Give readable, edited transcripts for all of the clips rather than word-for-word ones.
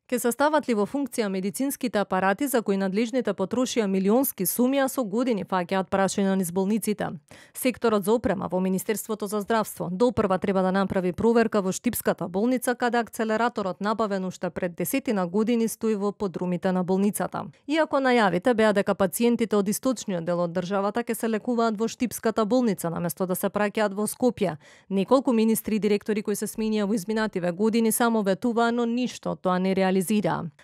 Ке се стават ли во функција медицинските апарати за кои надлежните потрошија милионски суми, а со години фаќаат прашања низ болниците? Секторот за опрема во Министерството за здравство допрва треба да направи проверка во Штипската болница, каде акцелераторот набавен уште пред 10 години стои во подрумите на болницата. Иако најавите беа дека пациентите од источниот дел од државата ќе се лекуваат во Штипската болница наместо да се праќаат во Скопје, неколку министри и директори кои се сменија во изминативе години само ветуваа, но ништо од тоа не реализира.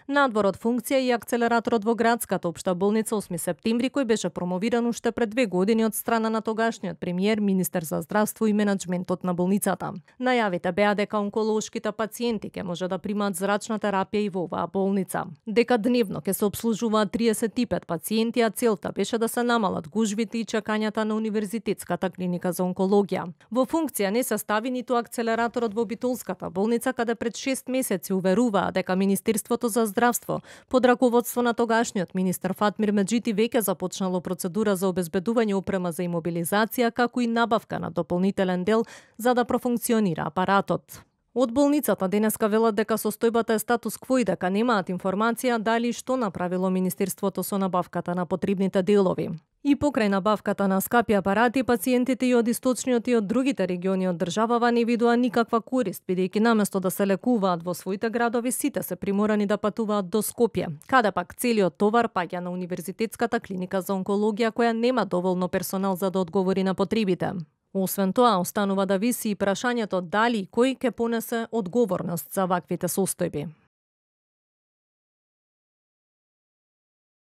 Надвор од функција и акцелераторот во градската општа болница 8 септември, кој беше промовиран уште пред 2 години од страна на тогашниот премиер, министер за здравство и менеджментот на болницата. Најавите беа дека онколошките пациенти ќе може да примаат зрачна терапија и во оваа болница, дека дневно ќе се обслужуваат 35 пациенти, а целта беше да се намалат гужвите и чекањата на Универзитетската клиника за онкологија. Во функција не се стави ниту акцелераторот во Битолската болница, каде пред 6 месеци уверуваа дека Министерството за здравство под раководство на тогашниот министер Фатмир Меджити веќе започнало процедура за обезбедување опрема за имобилизација, како и набавка на дополнителен дел за да профункционира апаратот. Од болницата денеска велат дека состојбата е статус кво и дека немаат информација дали и што направило Министерството со набавката на потребните делови. И покрај набавката на скапи апарати, пациентите и од источниот и од другите региони од државава не видоа никаква корист, бидејќи наместо да се лекуваат во своите градови, сите се приморани да патуваат до Скопје, каде пак целиот товар паѓа на Универзитетската клиника за онкологија, која нема доволно персонал за да одговори на потребите. Освен тоа, останува да виси и прашањето дали и кој ќе понесе одговорност за ваквите состојби.